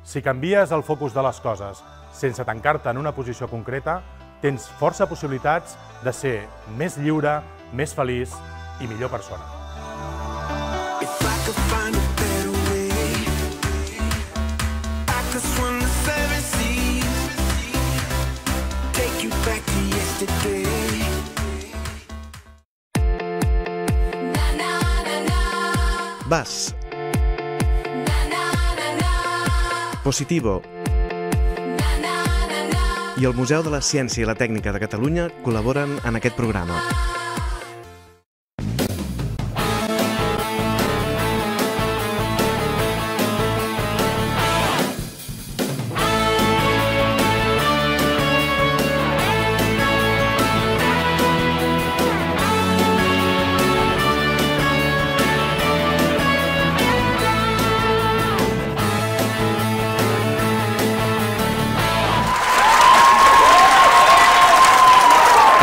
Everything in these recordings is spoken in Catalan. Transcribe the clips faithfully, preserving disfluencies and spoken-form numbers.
Si canvies el focus de les coses sense tancar-te en una posició concreta, tens força possibilitats de ser més lliure, més feliç i millor persona. Vas. Positivo. I el Museu de la Ciència i la Tècnica de Catalunya col·laboren en aquest programa.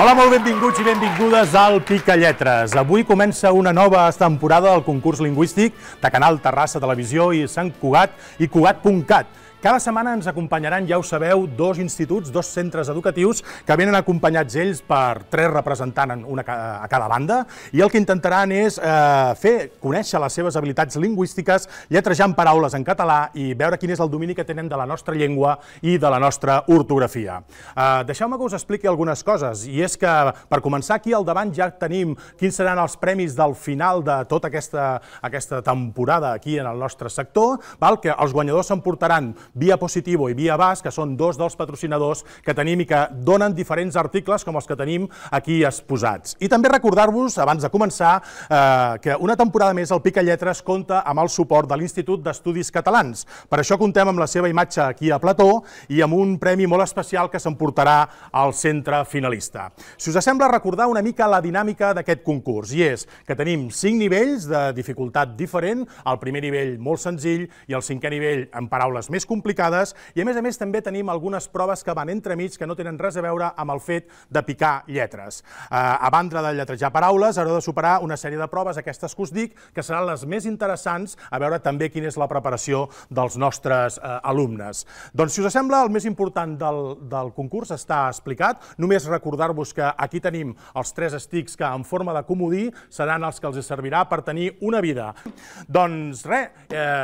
Hola, molt benvinguts i benvingudes al Picalletres. Avui comença una nova temporada del concurs lingüístic de Canal Terrassa Televisió i Sant Cugat i Cugat punt cat. Cada setmana ens acompanyaran, ja ho sabeu, dos instituts, dos centres educatius que venen acompanyats ells per tres representants una a cada banda i el que intentaran és eh, fer conèixer les seves habilitats lingüístiques lletrejant paraules en català i veure quin és el domini que tenen de la nostra llengua i de la nostra ortografia. Eh, Deixeu-me que us expliqui algunes coses i és que per començar aquí al davant ja tenim quins seran els premis del final de tota aquesta, aquesta temporada aquí en el nostre sector, val? Que els guanyadors s'emportaran Via Positivo i Via Vas, que són dos dels patrocinadors que tenim i que donen diferents articles com els que tenim aquí exposats. I també recordar-vos, abans de començar, eh, que una temporada més el Picalletres compta amb el suport de l'Institut d'Estudis Catalans. Per això contem amb la seva imatge aquí a plató i amb un premi molt especial que s'emportarà al centre finalista. Si us sembla, recordar una mica la dinàmica d'aquest concurs, i és que tenim cinc nivells de dificultat diferent, el primer nivell molt senzill i el cinquè nivell amb paraules més complicades, i a més a més també tenim algunes proves que van entremig que no tenen res a veure amb el fet de picar lletres. A banda de lletrejar paraules, haureu de superar una sèrie de proves, aquestes que us dic, que seran les més interessants, a veure també quina és la preparació dels nostres alumnes. Doncs, si us sembla, el més important del concurs està explicat. Només recordar-vos que aquí tenim els tres estics que en forma de comodí seran els que els servirà per tenir una vida. Doncs res,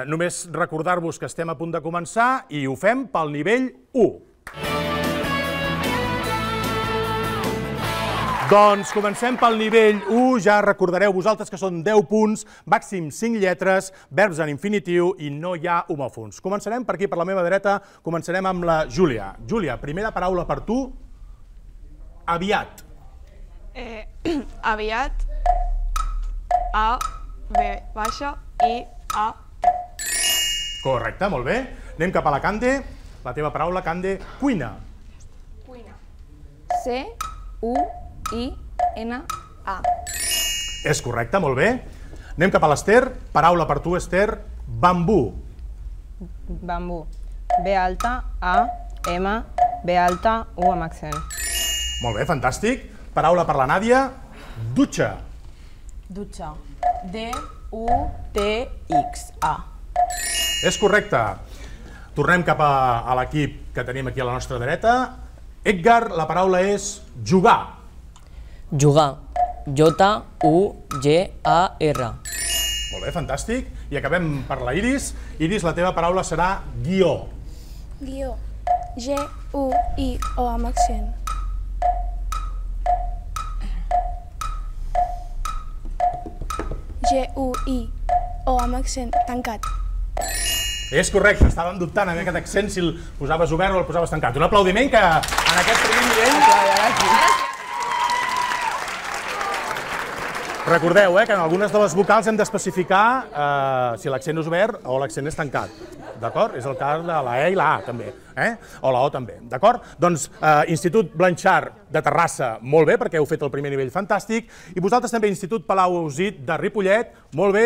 només recordar-vos que estem a punt de començar i ho fem pel nivell u. Doncs comencem pel nivell u, ja recordareu vosaltres que són deu punts, màxim cinc lletres, verbs en infinitiu i no hi ha homòfons. Començarem per aquí, per la meva dreta, començarem amb la Júlia. Júlia, primera paraula per tu, aviat. Eh, aviat, A, B baixa, I, A. Correcte, molt bé. Anem cap a la Cande. La teva paraula, Cande, cuina. Cuina. C, U, I, N, A. És correcte, molt bé. Anem cap a l'Ester. Paraula per tu, Ester, bambú. Bambú. B alta, A, M, B alta, U amb accent. Molt bé, fantàstic. Paraula per la Nàdia, dutxa. Dutxa. D, U, T, X, A. És correcte. Tornem cap a l'equip que tenim aquí a la nostra dreta. Edgar, la paraula és jugar. Jugar. J, U, G, A, R. Molt bé, fantàstic. I acabem per la Iris. Iris, la teva paraula serà guió. Guió. G, U, I, O amb accent. G, U, I, O amb accent tancat. És correcte, estàvem dubtant amb aquest accent si el posaves obert o el posaves tancat. Un aplaudiment que en aquest primer nivell... Recordeu que en algunes de les vocals hem d'especificar si l'accent és obert o l'accent és tancat. D'acord? És el cas de la E i la A també, o la O també. D'acord? Doncs Institut Blanchard de Terrassa, molt bé, perquè heu fet el primer nivell fantàstic. I vosaltres també, Institut Palau Ausit de Ripollet, molt bé.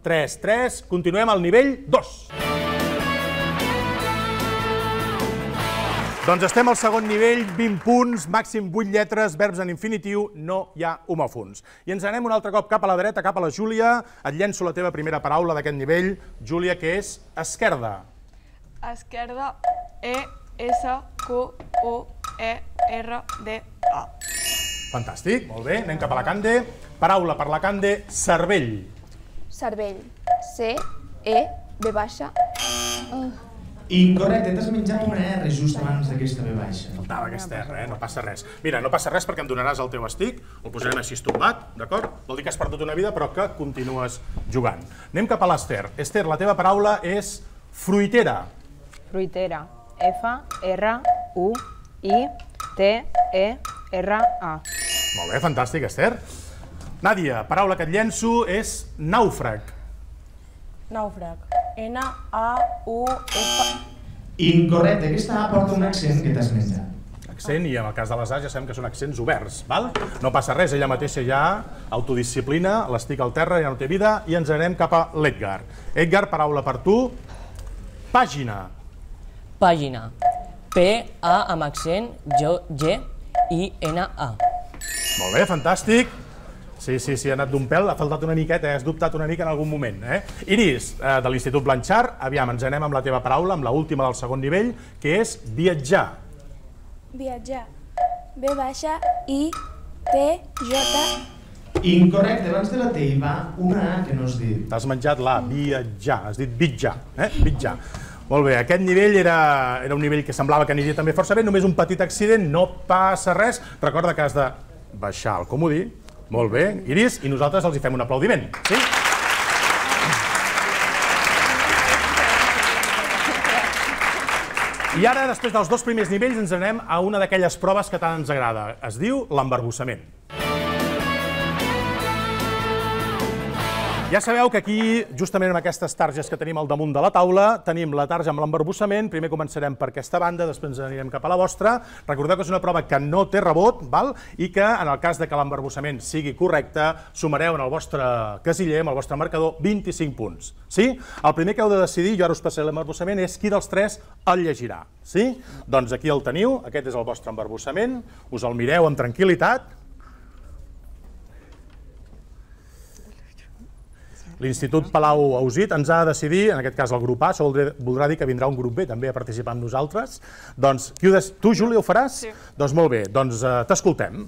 tres, tres, continuem al nivell dos. Doncs estem al segon nivell, vint punts, màxim vuit lletres, verbs en infinitiu, no hi ha homòfons. I ens anem un altre cop cap a la dreta, cap a la Júlia. Et llenço la teva primera paraula d'aquest nivell, Júlia, que és esquerda. Esquerda, E, S, Q, U, E, R, D, A. Fantàstic, molt bé. Anem cap a la Cande. Paraula per la Cande, cervell. Cervell. C, E, B baixa. Incorrecte, t'has menjat una R just abans d'aquesta B baixa. Faltava aquesta R, eh? No passa res. Mira, no passa res perquè em donaràs el teu estic, el posarem així estompat, d'acord? Vol dir que has perdut una vida però que continues jugant. Anem cap a l'Ester. Ester, la teva paraula és fruitera. Fruitera. F, R, U, I, T, E, R, A. Molt bé, fantàstic, Ester. Nàdia, paraula que et llenço és nàufrag. Nàufrag. N, A, U, F... Incorrecte, aquesta A porta un accent que t'has menjat. Accent, i en el cas de les A ja sabem que són accents oberts, val? No passa res, ella mateixa ja autodisciplina, l'estic al terra, ja no té vida, i ens anem cap a l'Edgar. Edgar, paraula per tu, pàgina. Pàgina. P, A amb accent, G, I, N, A. Molt bé, fantàstic. Sí, sí, sí, ha anat d'un pèl, ha faltat una miqueta, has dubtat una mica en algun moment. Eh? Iris, eh, de l'Institut Blanchard, aviam, ens anem amb la teva paraula, amb l'última del segon nivell, que és viatjar. Viatjar. B baixa, I, T, J. Incorrecte, abans de la T hi va una A que no has dit. T'has menjat la viatjar, has dit vitjar, eh? Vitjar. Molt bé, aquest nivell era, era un nivell que semblava que aniria també força bé, només un petit accident, no passa res. Recorda que has de baixar el comodí. Molt bé, Iris, i nosaltres els hi fem un aplaudiment, sí? I ara, després dels dos primers nivells, ens anem a una d'aquelles proves que tant ens agrada. Es diu l'embarbussament. Ja sabeu que aquí, justament amb aquestes targes que tenim al damunt de la taula, tenim la tarja amb l'embarbussament. Primer començarem per aquesta banda, després ens anirem cap a la vostra. Recordeu que és una prova que no té rebot, val? I que, en el cas de que l'embarbussament sigui correcte, sumareu en el vostre casiller, amb el vostre marcador, vint-i-cinc punts. Sí? El primer que heu de decidir, jo ara us passaré l'embarbussament, és qui dels tres el llegirà. Sí? Doncs aquí el teniu, aquest és el vostre embarbussament, us el mireu amb tranquil·litat. L'Institut Palau Ausit ens ha de decidir, en aquest cas el grup A, això voldrà dir que vindrà un grup B també a participar amb nosaltres. Doncs, tu, Júlia, ho faràs? Sí. Doncs molt bé, doncs t'escoltem.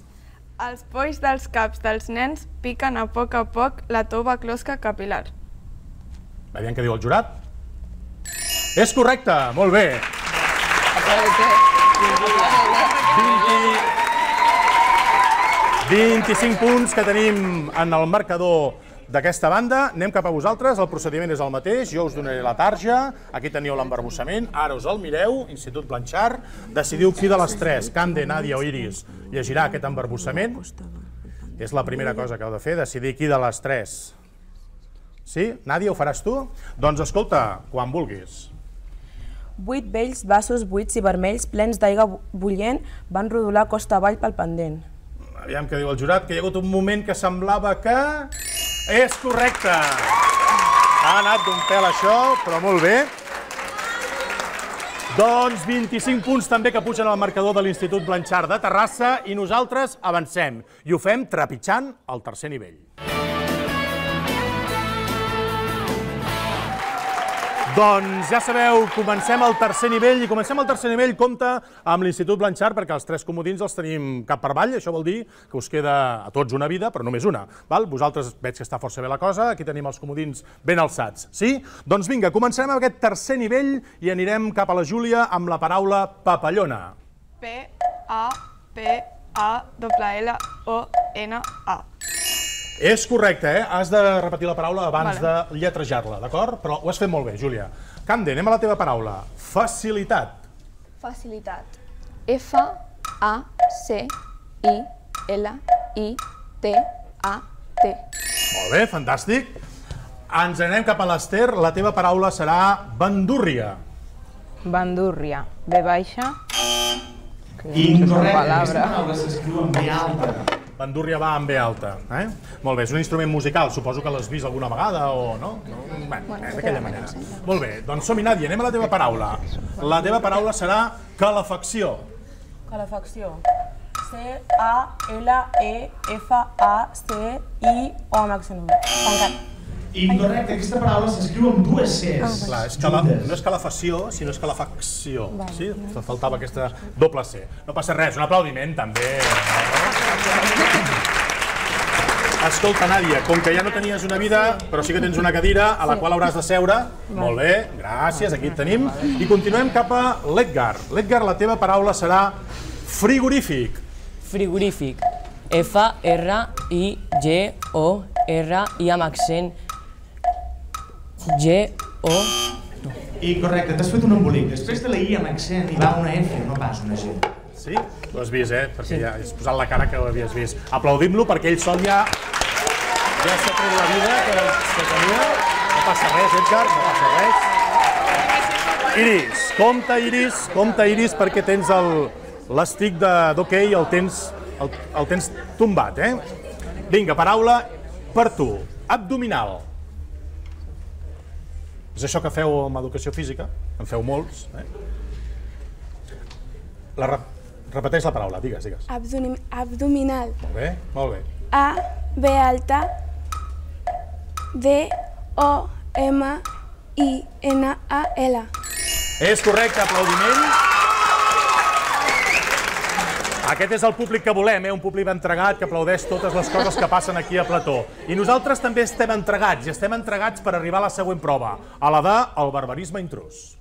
Els polls dels caps dels nens piquen a poc a poc la tova closca capilar. Aviam què diu el jurat. És correcte, molt bé. vint-i-cinc punts que tenim en el marcador d'aquesta banda. Anem cap a vosaltres, el procediment és el mateix, jo us donaré la tarja, aquí teniu l'embarbussament, ara us el mireu, Institut Blanchard, decidiu qui de les tres, Cande, Nàdia o Iris, llegirà aquest embarbussament. És la primera cosa que heu de fer, decidir qui de les tres. Sí? Nàdia, ho faràs tu? Doncs escolta, quan vulguis. Vuit vells vasos buits i vermells plens d'aigua bullent van rodolar costa avall pel pendent. Aviam què diu el jurat, que hi ha hagut un moment que semblava que... És correcte! Ha anat d'un pèl això, però molt bé. Doncs vint-i-cinc punts també que pugen al marcador de l'Institut Blanchard de Terrassa i nosaltres avancem i ho fem trepitjant el tercer nivell. Doncs ja sabeu, comencem el tercer nivell i comencem el tercer nivell, compte amb l'Institut Blanchard perquè els tres comodins els tenim cap per avall, això vol dir que us queda a tots una vida, però només una. Vosaltres veig que està força bé la cosa, aquí tenim els comodins ben alçats, sí? Doncs vinga, començarem amb aquest tercer nivell i anirem cap a la Júlia amb la paraula papallona. P, A, P, A, L, O, N, A. És correcte, eh? Has de repetir la paraula abans de lletrejar-la, d'acord? Però ho has fet molt bé, Júlia. Cande, anem a la teva paraula. Facilitat. Facilitat. F, A, C, I, L, I, T, A, T. Molt bé, fantàstic. Ens anem cap a l'Ester. La teva paraula serà bandúrria. Bandúrria. B baixa. Incorrecte, aquesta paraula s'escriu amb B alta. Bandúrria va amb B alta. Eh? Molt bé, és un instrument musical, suposo que l'has vist alguna vegada o no? Bé, d'aquella manera. Molt bé, doncs som-hi, Nàdia, anem a la teva paraula. La teva paraula serà calefacció. Calefacció. C, A, L, E, F, A, C, I, O amb accent tancat. Incorrecte, aquesta paraula s'escriu amb dues Cs. Clar, no és calefacció, sinó és calefacció. Sí? Faltava aquesta doble C. No passa res, un aplaudiment també. Escolta, Nàdia, com que ja no tenies una vida, però sí que tens una cadira a la qual hauràs de seure. Molt bé, gràcies, aquí et tenim. I continuem cap a l'Edgar. L'Edgar, la teva paraula serà frigorífic. Frigorífic. F R I G O R I amb accent G O... I correcte, t'has fet un embolic. Després de la I amb accent hi va una F, no pas una G. Sí? Ho has vist, eh? Perquè ja has posat la cara que ho havies vist. Aplaudim-lo perquè ell sol ja... Ja s'ha tret la vida que tenia. No passa res, Edgar, no passa res. Iris, compte, Iris, compte, Iris, perquè tens l'estic d'hoquei, el tens tombat, eh? Vinga, paraula per tu. Abdominal. És això que feu amb educació física, en feu molts. Repeteix la paraula, digues, digues. Abdominal. Molt bé, molt bé. A, B alta, D, O, M, I, N, A, L. És correcte, aplaudiment. Aquest és el públic que volem, un públic entregat que aplaudeix totes les coses que passen aquí a Plató. I nosaltres també estem entregats, i estem entregats per arribar a la següent prova, a la de el barbarisme intrús.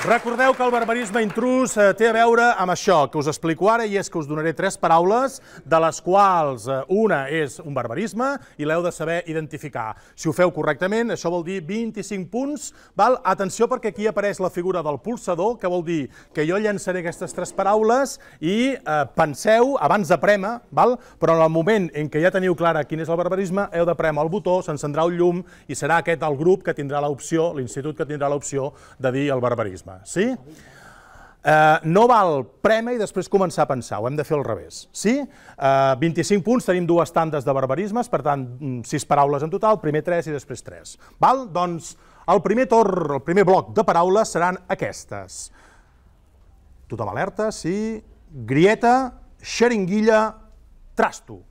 Recordeu que el barbarisme intrús té a veure amb això que us explico ara, i és que us donaré tres paraules, de les quals una és un barbarisme i l'heu de saber identificar. Si ho feu correctament, això vol dir vint-i-cinc punts. Atenció, perquè aquí apareix la figura del polsador, que vol dir que jo llançaré aquestes tres paraules i penseu abans de prémer, però en el moment en què ja teniu clara quin és el barbarisme, heu de prémer el botó, s'encendrà un llum i serà aquest el grup que tindrà l'opció, l'institut que tindrà l'opció de dir el barbarisme. Sí? No val prémer i després començar a pensar, ho hem de fer al revés. Sí? vint-i-cinc punts, tenim dues tandes de barbarismes, per tant, sis paraules en total, primer tres i després tres. Doncs el primer torn, el primer bloc de paraules seran aquestes. Tothom alerta, sí. Grieta, xeringuilla, trasto.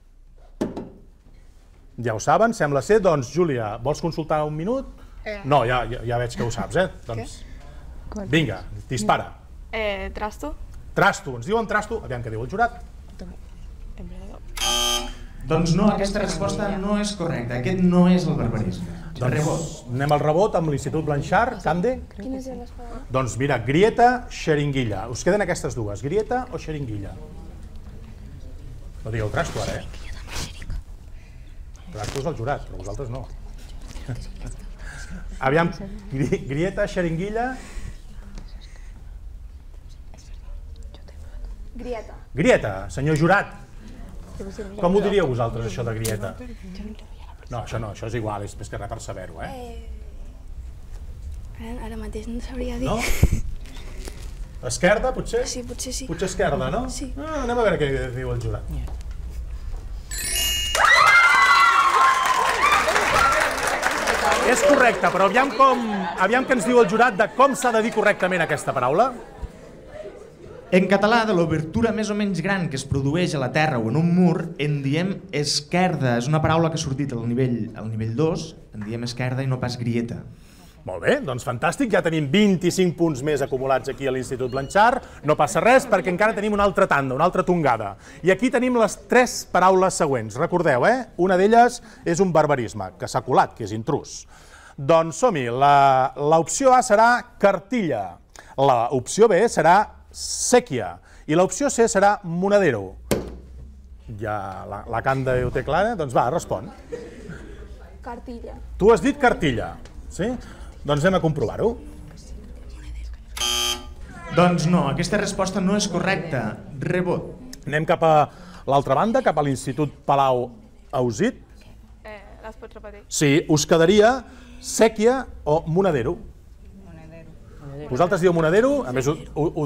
Ja ho saben, sembla ser. Doncs, Júlia, vols consultar un minut? No, ja veig que ho saps, eh? Doncs... Vinga, dispara. Trasto. Trasto, ens diuen trasto. Aviam què diu el jurat. Doncs no, aquesta resposta no és correcta. Aquest no és el barbarisme. Doncs anem al rebot amb l'Institut Blanchard. Cande? Quines eren les paraules? Doncs mira, grieta, xeringuilla. Us queden aquestes dues, grieta o xeringuilla? No digueu trasto ara, eh? Trasto és el jurat, però vosaltres no. Aviam, grieta, xeringuilla... Grieta. Grieta, senyor jurat. Com ho diríeu vosaltres, això de grieta? No, això no, això és igual, és més que res per saber-ho, eh? Ara mateix no sabria dir. No? Esquerda, potser? Sí, potser sí. Potser esquerda, no? Sí. Anem a veure què diu el jurat. És correcte, però aviam que ens diu el jurat de com s'ha de dir correctament aquesta paraula. En català, de l'obertura més o menys gran que es produeix a la terra o en un mur, en diem esquerda. És una paraula que ha sortit al nivell dos, en diem esquerda i no pas grieta. Molt bé, doncs fantàstic, ja tenim vint-i-cinc punts més acumulats aquí a l'Institut Blanchard. No passa res perquè encara tenim una altra tanda, una altra tongada. I aquí tenim les tres paraules següents. Recordeu, eh? Una d'elles és un barbarisme, que s'ha colat, que és intrús. Doncs som-hi, l'opció A serà cartilla, l'opció B serà sèquia i l'opció C serà monedero. Ja la Canda ho té clara, doncs va, respon. Cartilla. Tu has dit cartilla, sí? Doncs anem a comprovar-ho. Doncs no, aquesta resposta no és correcta. Rebot. Anem cap a l'altra banda, cap a l'Institut Palau Ausit. Les pots repetir? Sí, us quedaria sèquia o monedero. Vosaltres dieu monedero, a més ho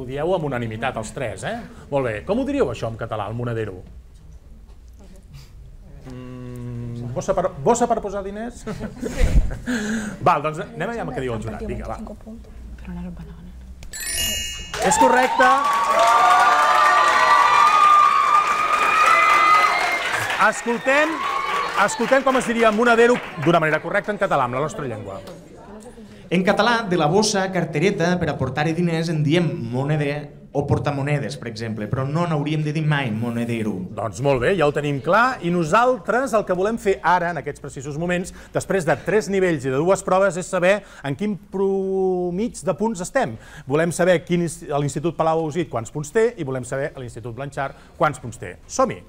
dieu amb unanimitat els tres, eh? Molt bé, com ho diríeu això en català, el monedero? Bossa per posar diners? Val, doncs anem a veure què diu el jurat, vinga, va. És correcte. escoltem, escoltem com es diria monedero d'una manera correcta en català, amb la nostra llengua. En català, de la bossa, cartereta, per aportar-hi diners en diem moneder o portamonedes, per exemple, però no n'hauríem de dir mai monedero. Doncs molt bé, ja ho tenim clar, i nosaltres el que volem fer ara, en aquests precisos moments, després de tres nivells i de dues proves, és saber en quin promig de punts estem. Volem saber quin, l'Institut Palau Ausit quants punts té i volem saber l'Institut Blanchard quants punts té. Som-hi!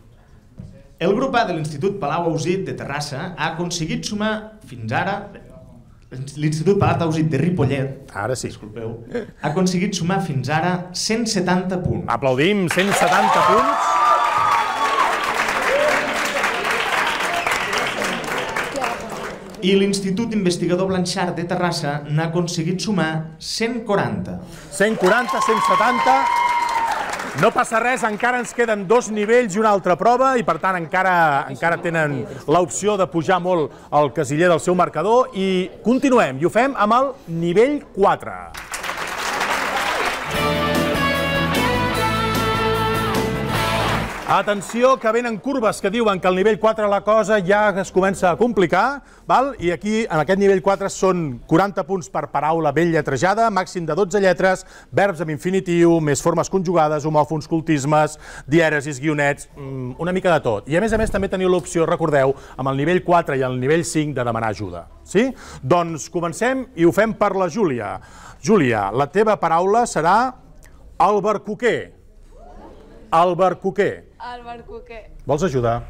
El grup A de l'Institut Palau Ausit de Terrassa ha aconseguit sumar fins ara... L'Institut Palau Ausit de Ripollet, ara sí, disculpeu, ha aconseguit sumar fins ara cent setanta punts. Aplaudim, cent setanta punts. I l'Institut Investigador Blanchard de Terrassa n'ha aconseguit sumar cent quaranta. cent quaranta, cent setanta... No passa res, encara ens queden dos nivells i una altra prova i per tant encara, encara tenen l'opció de pujar molt al casiller del seu marcador i continuem i ho fem amb el nivell quatre. Atenció, que venen curves que diuen que al nivell quatre la cosa ja es comença a complicar, val? I aquí, en aquest nivell quatre, són quaranta punts per paraula ben lletrejada, màxim de dotze lletres, verbs amb infinitiu, més formes conjugades, homòfons, cultismes, dièresis, guionets, una mica de tot. I a més a més també teniu l'opció, recordeu, amb el nivell quatre i el nivell cinc de demanar ajuda. Sí? Doncs comencem i ho fem per la Júlia. Júlia, la teva paraula serà albercoquer. Albercoquer. Albercoquer. Vols ajudar?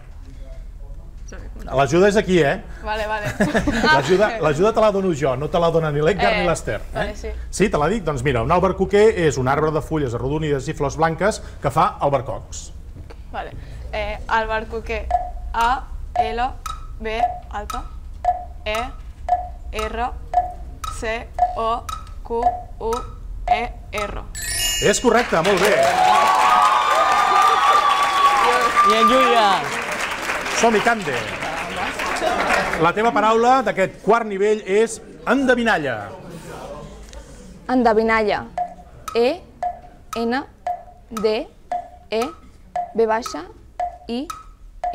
L'ajuda és aquí, eh? Vale, vale. L'ajuda te la dono jo, no te la dona ni l'Edgar ni l'Ester. Vale, sí. Sí, te la dic? Doncs mira, un albercoquer és un arbre de fulles arrodonides i flors blanques que fa albercocs. Vale. Albercoquer. A, L, B, alta, E, R, C, O, Q, U, E, R. És correcte, molt bé. I en Júlia. Som-hi, Cande. La teva paraula d'aquest quart nivell és endevinalla. Endevinalla. E, N, D, E, B baixa, I,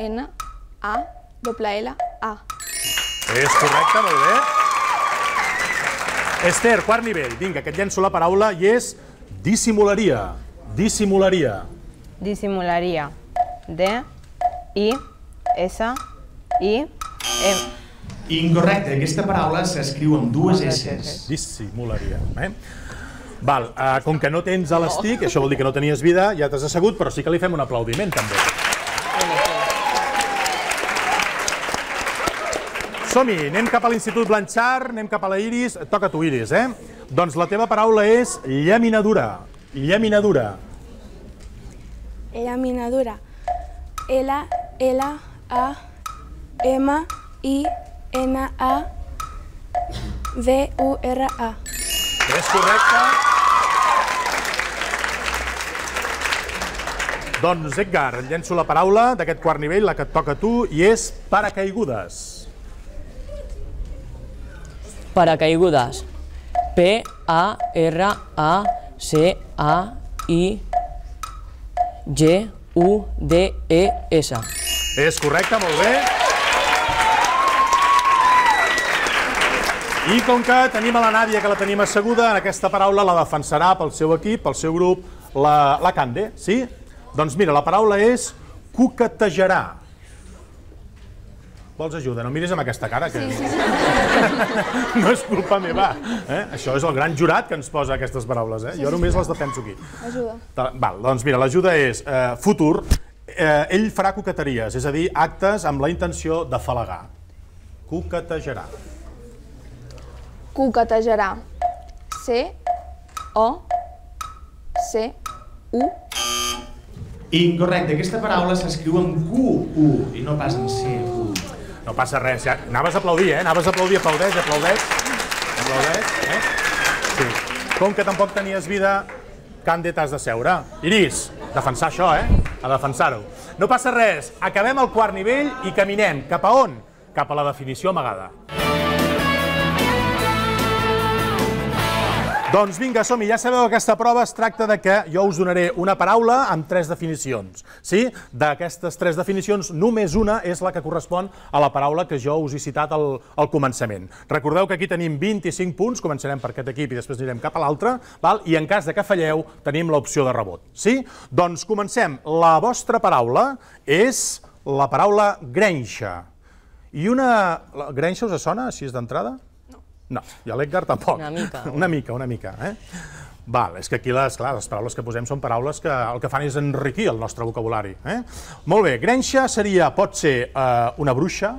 N, A, doble L, A. És correcte, molt bé. Ester, quart nivell. Vinga, que et llenço la paraula i és dissimularia. Dissimularia. Dissimularia. D, I, S, I, M. Incorrecte, aquesta paraula s'escriu amb dues S. Dissimularia. Val, com que no tens elàstic, això vol dir que no tenies vida, ja t'has assegut, però sí que li fem un aplaudiment, també. Som-hi, anem cap a l'Institut Blanchard, anem cap a la Iris. Et toca a tu, Iris, eh? Doncs la teva paraula és llaminadura. Llaminadura. Llaminadura. L, L, A, M, I, N, A, V, U, R, A. És correcte. Doncs, Edgar, et llenço la paraula d'aquest quart nivell, la que et toca a tu, i és paracaigudes. Paracaigudes. P, A, R, A, C, A, I, G, U, D, E, S. És correcte, molt bé. I com que tenim a la Nàdia, que la tenim asseguda, en aquesta paraula la defensarà pel seu equip, pel seu grup, la, la Cande, sí? Doncs mira, la paraula és coquetejarà. Vols ajuda? No miris amb aquesta cara, que Sí, sí, sí. no és culpa meva. Eh? Això és el gran jurat que ens posa aquestes paraules. Eh? Jo només les defenso aquí. Ajuda. Val, doncs mira, l'ajuda és eh, futur. Eh, ell farà coqueteries, és a dir, actes amb la intenció de falagar. Coquetejarà. Coquetejarà. C, O, C, U. Incorrecte, aquesta paraula s'escriu amb Q, U, i no pas amb C, U. No passa res, ja. Anaves a aplaudir, eh? Anaves a aplaudir, aplaudeix, aplaudeix. Aplaudeix, eh? Sí. Com que tampoc tenies vida, Cande, t'has de seure. Iris, defensar això, eh? A defensar-ho. No passa res, acabem el quart nivell i caminem. Cap a on? Cap a la definició amagada. Doncs vinga, som-hi. Ja sabeu que aquesta prova es tracta de que jo us donaré una paraula amb tres definicions. Sí? D'aquestes tres definicions, només una és la que correspon a la paraula que jo us he citat al, al començament. Recordeu que aquí tenim vint-i-cinc punts, començarem per aquest equip i després anirem cap a l'altre, i en cas de que falleu tenim l'opció de rebot. Sí? Doncs comencem. La vostra paraula és la paraula grenxa. I una... Grenxa us sona, així és d'entrada? No, i a l'Edgar tampoc. Una mica. Una mica, una mica. Val, és que aquí les paraules que posem són paraules que el que fan és enriquir el nostre vocabulari. Molt bé, grenxa seria, pot ser una bruixa,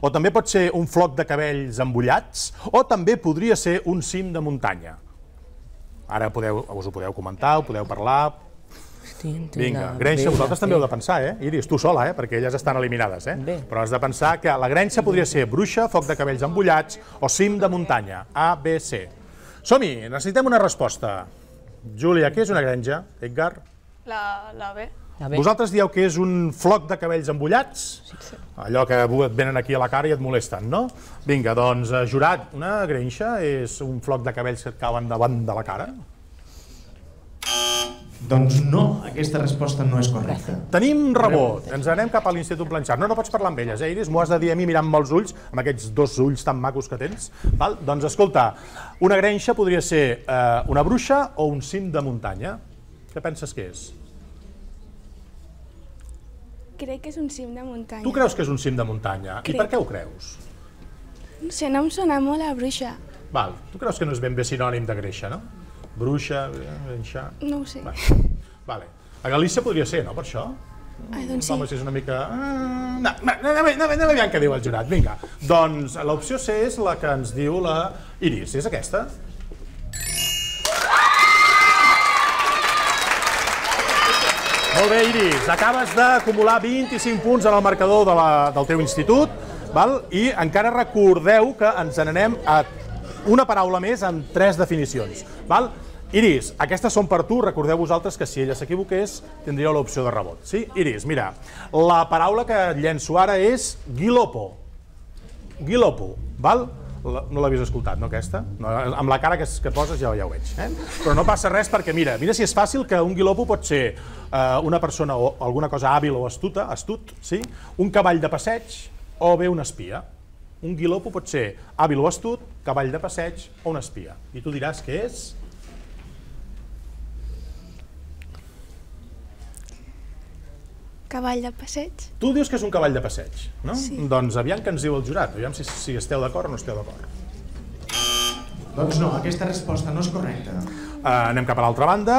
o també pot ser un floc de cabells embullats, o també podria ser un cim de muntanya. Ara us ho podeu comentar, ho podeu parlar... Vinga, grenxa, vosaltres també heu de pensar, eh? Iris, tu sola, eh? Perquè elles estan eliminades, eh? Però has de pensar que la grenxa podria ser bruixa, foc de cabells embullats o cim de muntanya. A, B, C. Som-hi, necessitem una resposta. Júlia, què és una grenja? Edgar? La B. Vosaltres dieu que és un floc de cabells embullats? Allò que et venen aquí a la cara i et molesten, no? Vinga, doncs, jurat, una grenxa és un floc de cabells que et cauen davant de la cara? Doncs no, aquesta resposta no és correcta. Tenim rebot, ens anem cap a l'Institut Blanchard. No, no pots parlar amb elles, eh, Iris? M'ho has de dir a mi mirant molts ulls, amb aquests dos ulls tan macos que tens. Doncs escolta, una grenxa podria ser una bruixa o un cim de muntanya. Què penses que és? Crec que és un cim de muntanya. Tu creus que és un cim de muntanya? I per què ho creus? No sé, no em sona molt a bruixa. Val, tu creus que no és ben bé sinònim de greixa, no? Bruixa, grenxa... No ho sé. Vale. A Galícia podria ser, no, per això? Ai, doncs sí. Home, si és una mica... No, anem aviam què diu el jurat, vinga. Doncs l'opció C és la que ens diu la Iris, és aquesta? Molt bé, Iris, acabes d'acumular vint-i-cinc punts en el marcador del teu institut, i encara recordeu que ens n'anem a una paraula més amb tres definicions. Iris, aquestes són per tu, recordeu vosaltres que si ella s'equivoqués tindríeu l'opció de rebot. Sí? Iris, mira, la paraula que llenço ara és guilopo. Guilopo, val? No l'havies escoltat, no, aquesta? Amb la cara que poses ja ho veig. Però no passa res perquè, mira, mira si és fàcil que un guilopo pot ser una persona o alguna cosa hàbil o astuta, astut, un cavall de passeig o bé un espia. Un guilopo pot ser hàbil o astut, cavall de passeig o un espia. I tu diràs què és? Cavall de passeig. Tu dius que és un cavall de passeig, no? Doncs aviam què ens diu el jurat, aviam si esteu d'acord o no esteu d'acord. Doncs no, aquesta resposta no és correcta. Anem cap a l'altra banda,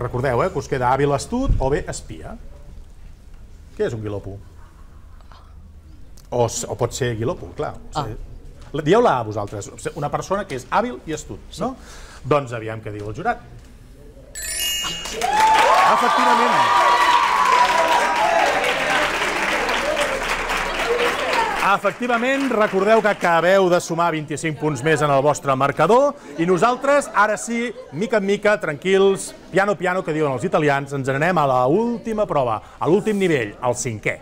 recordeu que us queda hàbil astut o bé espia. Què és un guilopo? O pot ser guilopo, clar. Dieu-la a vosaltres, una persona que és hàbil i astut, no? Doncs aviam què diu el jurat. Efectivament. Efectivament, recordeu que acabeu de sumar vint-i-cinc punts més en el vostre marcador i nosaltres, ara sí, mica en mica, tranquils, piano piano, que diuen els italians, ens n'anem a l'última prova, a l'últim nivell, el cinquè.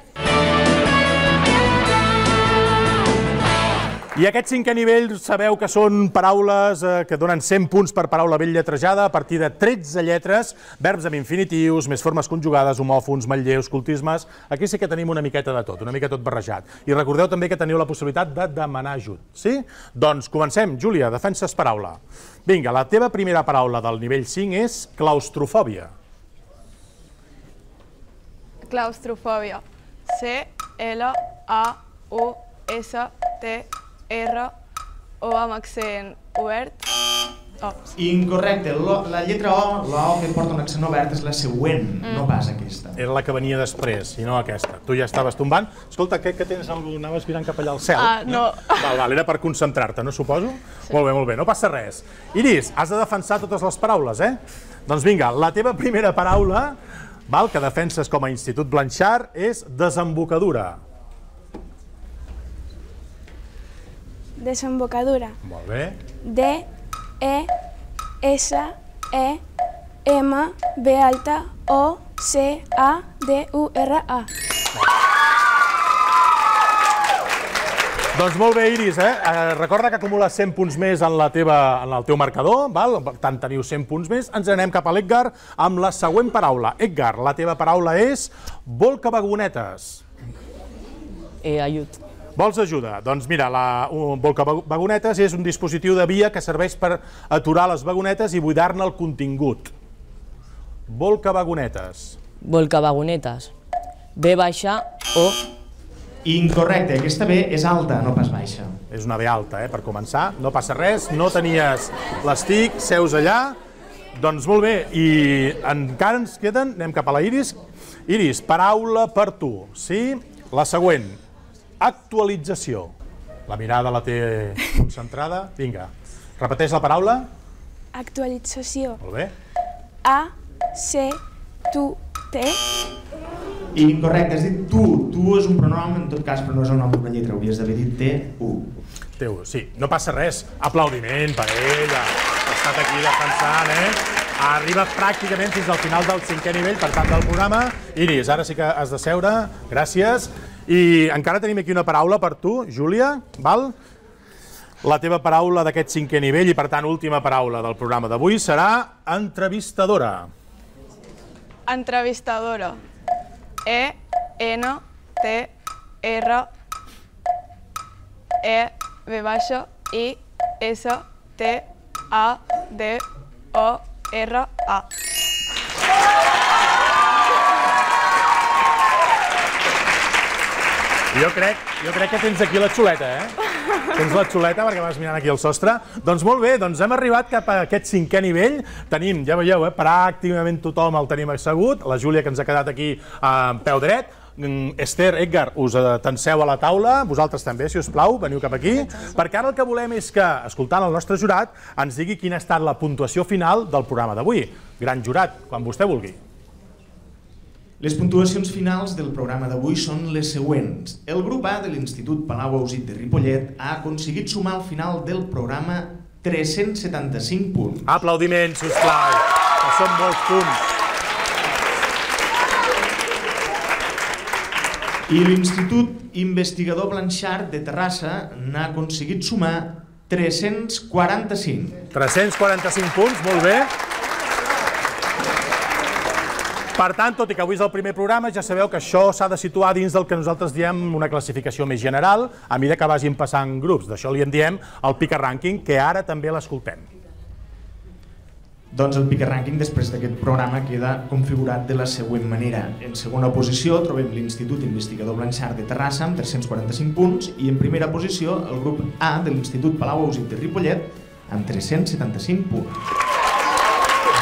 I aquest cinquè nivell sabeu que són paraules que donen cent punts per paraula ben lletrejada a partir de tretze lletres, verbs amb infinitius, més formes conjugades, homòfons, manlleus, cultismes... Aquí sí que tenim una miqueta de tot, una mica tot barrejat. I recordeu també que teniu la possibilitat de demanar ajut, sí? Doncs comencem. Júlia, defenses paraula. Vinga, la teva primera paraula del nivell cinc és claustrofòbia. Claustrofòbia. C L A U S T R O amb accent obert. Incorrecte, la lletra O, la O que porta un accent obert és la següent, no pas aquesta. Era la que venia després i no aquesta. Tu ja estaves tombant. Escolta, què tens? Anaves mirant cap allà al cel? Ah, no. Val, val, era per concentrar-te, no suposo? Molt bé, molt bé, no passa res. Iris, has de defensar totes les paraules, eh? Doncs vinga, la teva primera paraula, que defenses com a Institut Blanchard, és desembocadura. Desembocadura. Molt bé. D, E, S, E, M, B alta, O, C, A, D, U, R, A. Doncs molt bé, Iris, eh? Recorda que acumules cent punts més en, la teva, en el teu marcador, val? Per tant, teniu cent punts més. Ens anem cap a l'Edgar amb la següent paraula. Edgar, la teva paraula és volcavagonetes. Eh, ajut. Vols ajuda? Doncs mira, la volcavagonetes és un dispositiu de via que serveix per aturar les vagonetes i buidar-ne el contingut. Volcavagonetes. Volcavagonetes. B baixa o... Incorrecte, aquesta B és alta, no pas baixa. És una B alta, eh, per començar. No passa res, no tenies l'estic, seus allà. Doncs molt bé, i encara ens queden, anem cap a la Iris. Iris, paraula per tu, sí? La següent, actualització. La mirada la té concentrada. Vinga, repeteix la paraula. Actualització. Molt bé. A, C, tu, T. Incorrecte, has dit tu. Tu és un pronom, en tot cas, però no és el nom d'una lletra. Hauries d'haver dit T, U. T, U, sí. No passa res. Aplaudiment per ella. Ha estat aquí defensant, eh? Arriba pràcticament fins al final del cinquè nivell, per tant, del programa. Iris, ara sí que has de seure. Gràcies. I encara tenim aquí una paraula per tu, Júlia, val? La teva paraula d'aquest cinquè nivell i, per tant, última paraula del programa d'avui serà entrevistadora. Entrevistadora. E, N, T, R, E, V baixa, I, S, T, A, D, O, R, A. Jo crec, jo crec que tens aquí la xuleta, eh? Tens la xuleta perquè vas mirant aquí al sostre. Doncs molt bé, doncs hem arribat cap a aquest cinquè nivell. Tenim, ja veieu, eh, pràcticament tothom el tenim assegut. La Júlia, que ens ha quedat aquí a peu dret. Esther, Edgar, us atanseu a la taula, vosaltres també, si us plau, veniu cap aquí, perquè ara el que volem és que, escoltant el nostre jurat, ens digui quina ha estat la puntuació final del programa d'avui. Gran jurat, quan vostè vulgui. Les puntuacions finals del programa d'avui són les següents. El grup A de l'Institut Palau Ausit de Ripollet ha aconseguit sumar al final del programa tres-cents setanta-cinc punts. Aplaudiments, sisplau, que són molts punts. I l'Institut Investigador Blanchard de Terrassa n'ha aconseguit sumar tres-cents quaranta-cinc. tres-cents quaranta-cinc punts, molt bé. Per tant, tot i que avui és el primer programa, ja sabeu que això s'ha de situar dins del que nosaltres diem una classificació més general, a mesura que vagin passant grups. D'això li en diem el Pica Rànquing, que ara també l'escoltem. Doncs el Pica Rànquing després d'aquest programa queda configurat de la següent manera. En segona posició trobem l'Institut Investigador Blanchard de Terrassa amb tres-cents quaranta-cinc punts i en primera posició el grup A de l'Institut Palau Ausit de Ripollet amb tres-cents setanta-cinc punts.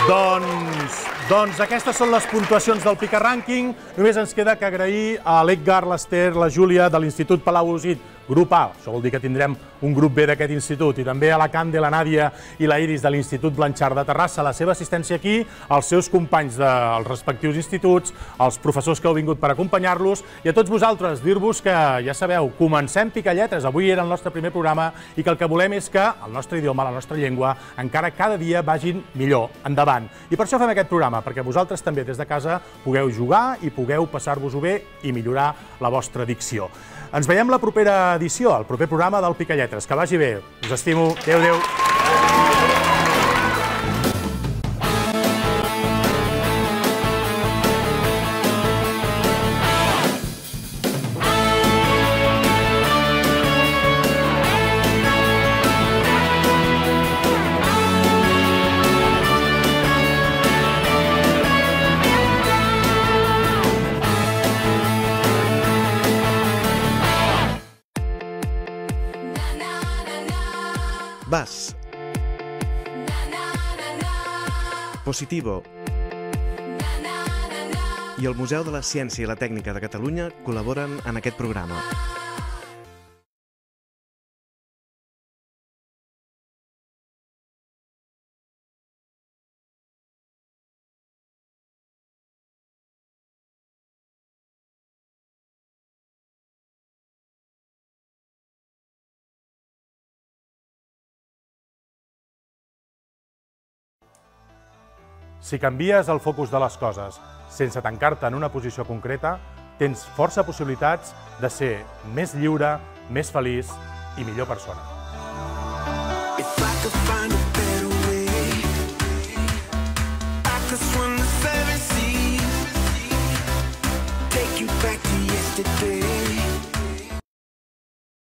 Doncs, doncs aquestes són les puntuacions del Pica Rànquing. Només ens queda que agrair a l'Edgar, l'Ester, la Júlia de l'Institut Palau Ausit, grup A, això vol dir que tindrem un grup B d'aquest institut, i també a la Cande, la Nàdia i la Iris de l'Institut Blanchard de Terrassa, la seva assistència aquí, els seus companys dels respectius instituts, els professors que heu vingut per acompanyar-los, i a tots vosaltres dir-vos que, ja sabeu, comencem Pica Lletres, avui era el nostre primer programa, i que el que volem és que el nostre idioma, la nostra llengua, encara cada dia vagin millor, endavant. I per això fem aquest programa, perquè vosaltres també des de casa pugueu jugar i pugueu passar-vos-ho bé i millorar la vostra dicció. Ens veiem la propera edició, el proper programa del Pica Lletres. Que vagi bé. Us estimo. Adéu, adéu. Vas. Positivo. I el Museu de la Ciència i la Tècnica de Catalunya col·laboren en aquest programa. Si canvies el focus de les coses sense tancar-te en una posició concreta, tens força possibilitats de ser més lliure, més feliç i millor persona. Take you back to yesterday.